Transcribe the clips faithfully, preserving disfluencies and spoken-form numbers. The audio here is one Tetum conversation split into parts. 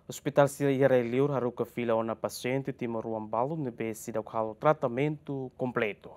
Ospitál sira iha rai-liur haruka fila ona pasiente timoroan balu ne'ebé seidauk halo tratamentu kompletu.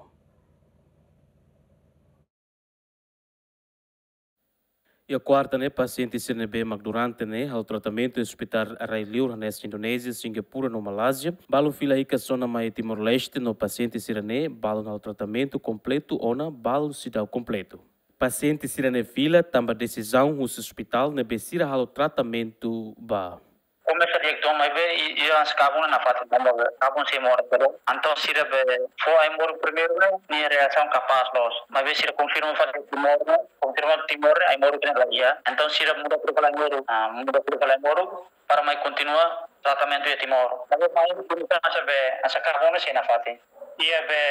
Iha kuarta ne'e, pasiente sira ne'ebé mak durante ne'e halo tratamentu iha ospitál rai-liur hanesan Indonézia, Singapura no Malázia, balun fila hikas ona mai Timor-Leste no pasiente sira ne'e balun halo tratamentu kompletu ona balun seidauk kompletu. Pasiente sira-ne'e fila tanba desizaun husi ospitál ne'ebé sira halo tratamentu ba. Komesa di'ak, maibé i, i hanesan kabun nafatin tanba kabun sei moras. Entaun sira be fó ai-moruk primeiru ne'e, nia reasaun kapás loos. Maibé sira konfirma fali timor ne'e, konfirma timor ne'e ai-moruk ne'e la iha. Entaun sira muda fali ai-moruk, ah, muda fali ai-moruk para mai kontinua tratamentu iha Timor. Maibé mai hanesan be hanesan kabun sei nafatin. Iha be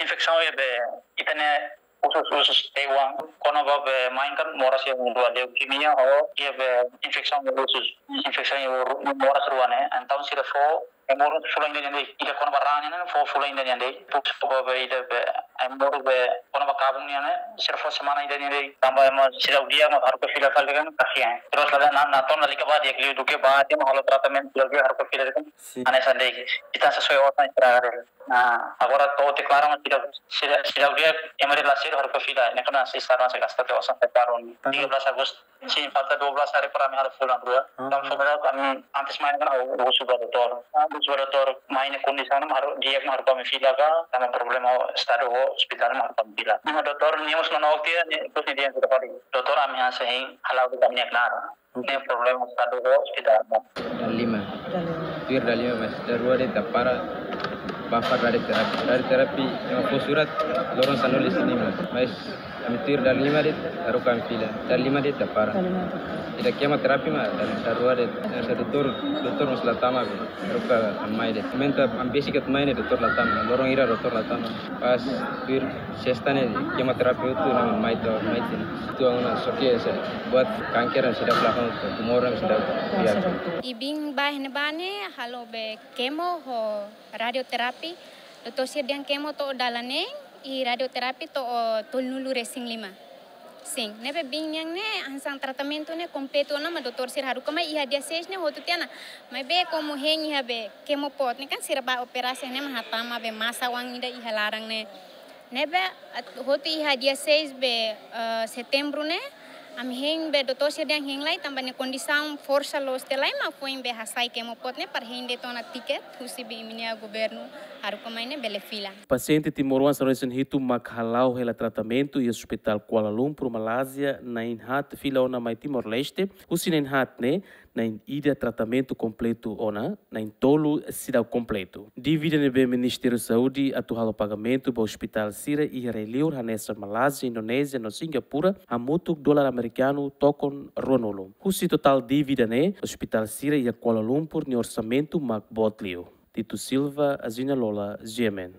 infesaun iha be ita-nia usus-usus teuan, kona-ba be mãe kan moras iha uma-rua, leukemia ho iha be infesaun iha usus, infesaun iha ru-, moras rua ne'e. Entaun sira fó ai-moruk fulan ida nian de'it, ida kona-ba raan nian fó fulan ida nian de'it. Depois fó be ida be ai-moruk be kona-ba kabun nian ne'e, sira fó semana ida nian de'it. Tanba ema seidauk di'ak mak haruka fila fali kan, kasian. Terus lada na, na tona lika ba di'ak liu duké ba, ema halo tratamentu lagi haruka fila kan. Sin. Hanesan de'it, ita sesuai osan sira. Nah, agora to'o deklara mak seidauk, seidauk, seidauk di'ak, ema de'it la seidauk haruka fila, ne'e kan sei sara, sei gasta tiha osan separu. Tanggal tiga belas Agustus. Sin, falta dua belas hari para ami halo fulan rua. Ah. Entaun fó ba ami antes mai ne'e kan ha'u husu ba doutór. Ah, husu ba doutór, mai ne'e kondisaun mak haru-, di'ak mak haruka ami fila ka, tanba problema estadu ho ospitál mak haruka ami fila. Ne'e mak doutór, nia mós manook tiha, nia, terus nia dehan fila fali. Doutór, ami hanesan hein hala'o de'it ami-nia knaar. Oke. Ne'e problema estadu ho ospitál. Dala lima. Dala lima. Tuir dala lima, mas dala rua de'it ita para, bá fali radioterapi. Radioterapi, ema fó surat, loron sanulu-resin-lima. Mas ami tuir dala lima de'it, haruka ami fila. Dala lima de'it ita para. Dala lima ita para. Ita kemoterapi mak, dala, dala rua de'it. Hanesan doutór, doutór mós la tama be. Haruka ami mai de'it. Momentu ami besik atu mai ne'e doutór la tama. Loron hira doutór la tama. Pas tuir sesta ne'e kemoterapi hotu ne'e mai to'o mai tiha. Tuan ona só ke se buat kanker seidauk lakon, tumor seidauk. Ya, biar seidauk. Ibin ba ne'ebá ne'e halo be kemo ho radioterapi. Doutór sira dehan kemo to'o dala neen, i radioterapi to'o tolunulu-resin-lima. Sin, ne'ebé biin nian ne'e hanesan tratamentu ne'e kompletu ona mak doutór sira haruka mai iha dia seis ne'e hotu tiha ona. Maibé komu hein iha be kemo pot ne'e kan sira bá operasi ne'e mak hatama be masa oan ida iha laran ne'e. Ne'ebé at-, hotu iha dia seis be, eh, Setembru ne'e, ami hein be doutór sira dehan hein lai tanba nia kondisaun forsa loos tiha lai mak foin be hasai kemo pot ne'e para hein de'it ona tiket husi be imi-nia governu haruka mai ne'e bele fila. Pasiente timoroan sanulu-resin-hitu mak hala'o hela tratamentu iha Ospitál Kuala Lumpur, Malázia, na'in haat fila ona mai Timor-Leste, husi na'in haat ne'e, na'in ida tratamentu kompletu ona, na'in tolu seidauk kompletu. Dívida ne'ebé Ministériu Saúde atu halo pagamentu ba ospitál sira iha rai-liur hanesan Malázia, Indonézia no Singapura, hamutuk dolar amerikanu tokon ruanulu. Husi totál dívida ne'e, ospitál sira iha Kuala Lumpur nia orsamentu mak boot liu. Tito Silva, Azina Lola, G M N.